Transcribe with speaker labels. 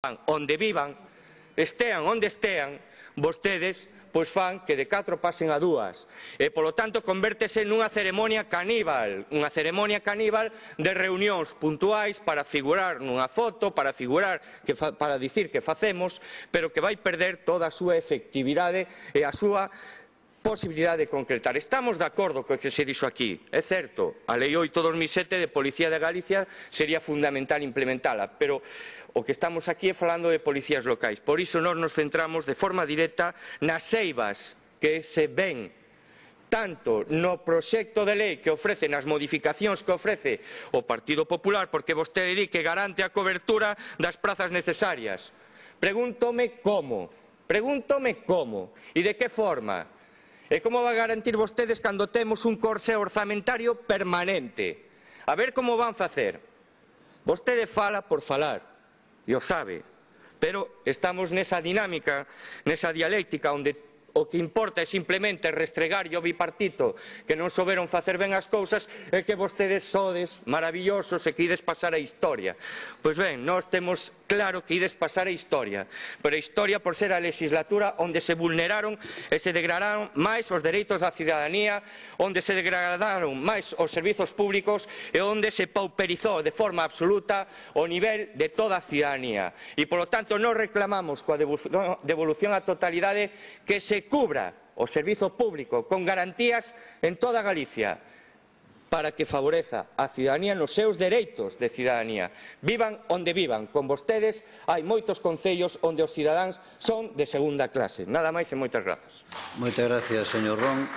Speaker 1: onde vivan, estean onde estean, vostedes pois fan que de 4 pasen a 2 e polo tanto convértese nunha ceremonia caníbal de reunións puntuais para figurar nunha foto, para dicir que facemos, pero que vai perder toda a súa efectividade e a súa posibilidade de concretar. Estamos de acordo co que se dixo aquí, é certo, a Lei 8/2007 de Policía de Galicia sería fundamental implementala, pero o que estamos aquí é falando de policías locais. Por iso nós nos centramos de forma directa nas eivas que se ven tanto no proxecto de lei que ofrece, nas modificacións que ofrece o Partido Popular, porque vostede di que garante a cobertura das prazas necesarias. Pregúntome como, e de que forma. E como van a garantir vostedes cando temos un corsé orzamentario permanente? A ver como van facer. Vostede fala por falar, e o sabe, pero estamos nesa dinámica, nesa dialéctica onde o que importa é simplemente restregar o bipartito que non souberon facer ben as cousas e que vostedes sodes maravillosos e que ides pasar a historia. Pois ben, nós temos claro que ides pasar a historia, pero a historia por ser a legislatura onde se vulneraron e se degradaron máis os dereitos da cidadanía, onde se degradaron máis os servizos públicos e onde se pauperizou de forma absoluta o nivel de toda a cidadanía. E polo tanto nós reclamamos coa devolución á totalidade que se cubra o servizo público con garantías en toda Galicia para que favoreza a cidadanía nos seus dereitos de cidadanía. Vivan onde vivan, con vostedes hai moitos concellos onde os cidadáns son de segunda clase. Nada máis e moitas grazas.
Speaker 2: Moitas gracias, señor Ron.